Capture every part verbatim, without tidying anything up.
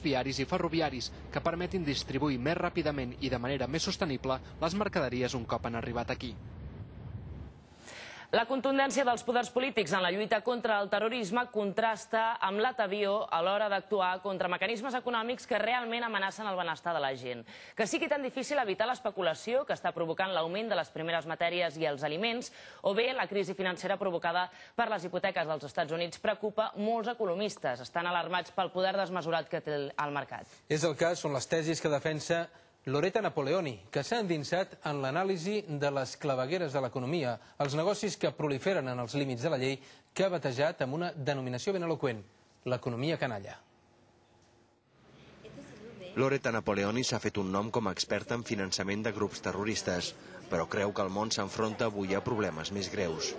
viaris i ferroviaris que permetin distribuir més ràpidament i de manera més sostenible les mercaderies un cop han arribat aquí. La contundència dels poders polítics en la lluita contra el terrorisme contrasta amb l'atavió a l'hora d'actuar contra mecanismes econòmics que realment amenacen el benestar de la gent. Que sigui tan difícil evitar l'especulació que està provocant l'augment de les primeres matèries i els aliments, o bé la crisi financera provocada per les hipoteques dels Estats Units preocupa molts economistes. Estan alarmats pel poder desmesurat que té el mercat. És el cas, són les tesis que defensa Loretta Napoleoni, que s'ha endinsat en l'anàlisi de les clavegueres de l'economia, els negocis que proliferen en els límits de la llei, que ha batejat amb una denominació ben eloqüent, l'economia canalla. Loretta Napoleoni s'ha fet un nom com a experta en finançament de grups terroristes, però creu que el món s'enfronta avui a problemes més greus.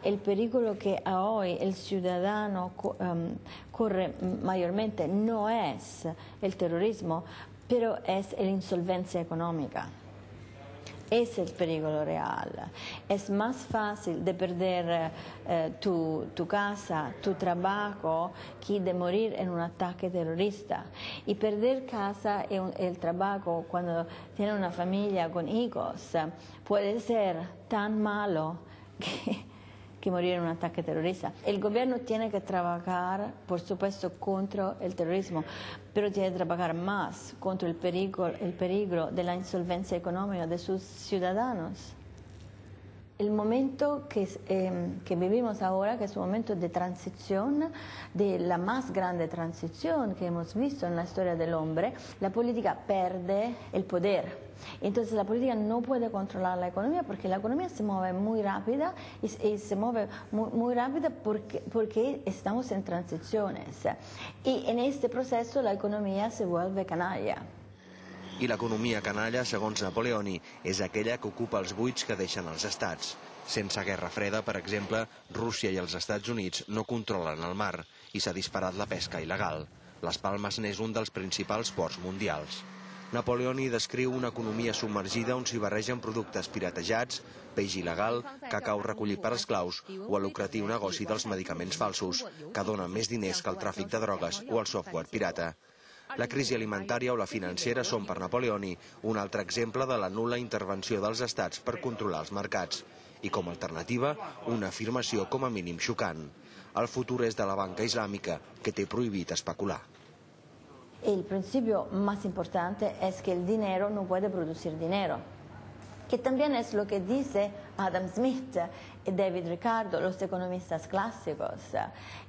El pericolo que hoy el ciudadano um, corre mayormente no es el terrorismo, pero es la insolvencia económica. Es el peligro real. Es más fácil de perder eh, tu, tu casa, tu trabajo, que de morir en un ataque terrorista. Y perder casa y un, el trabajo cuando tiene una familia con hijos puede ser tan malo que que morir en un ataque terrorista. El gobierno tiene que trabajar, por supuesto, contra el terrorismo, pero tiene que trabajar más contra el peligro, el peligro de la insolvencia económica de sus ciudadanos. El momento que, eh, que vivimos ahora, que es un momento de transición, de la más grande transición que hemos visto en la historia del hombre, la política pierde el poder. Entonces la política no puede controlar la economía porque la economía se mueve muy rápida y, y se mueve muy, muy rápida porque, porque estamos en transiciones. Y en este proceso la economía se vuelve canalla. I l'economia canalla, segons Napoleoni, és aquella que ocupa els buits que deixen els estats. Sense guerra freda, per exemple, Rússia i els Estats Units no controlen el mar i s'ha disparat la pesca il·legal. Les Palmes n'és un dels principals ports mundials. Napoleoni descriu una economia submergida on s'hi barregen productes piratejats, peix il·legal, cacau recollit per esclaus o el lucratiu negoci dels medicaments falsos, que donen més diners que el tràfic de drogues o el software pirata. La crisi alimentària o la financera són per Napoleoni un altre exemple de la nul·la intervenció dels estats per controlar els mercats i, com a alternativa, una afirmació com a mínim xocant. El futur és de la banca islàmica, que té prohibit especular. El principio más importante es que el dinero no puede producir dinero, que también es lo que dice Adam Smith y David Ricardo, los economistas clásicos.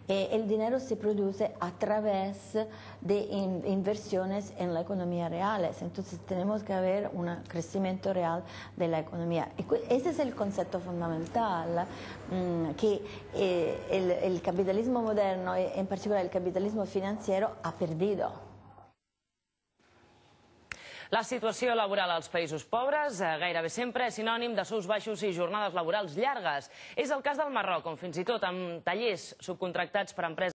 Eh, el dinero se produce a través de in inversiones en la economía reales, entonces tenemos que haber un crecimiento real de la economía. Y ese es el concepto fundamental mmm, que eh, el, el capitalismo moderno, en particular el capitalismo financiero, ha perdido. La situació laboral als països pobres gairebé sempre és sinònim de sous baixos i jornades laborals llargues. És el cas del Marroc, on fins i tot amb tallers subcontractats per empreses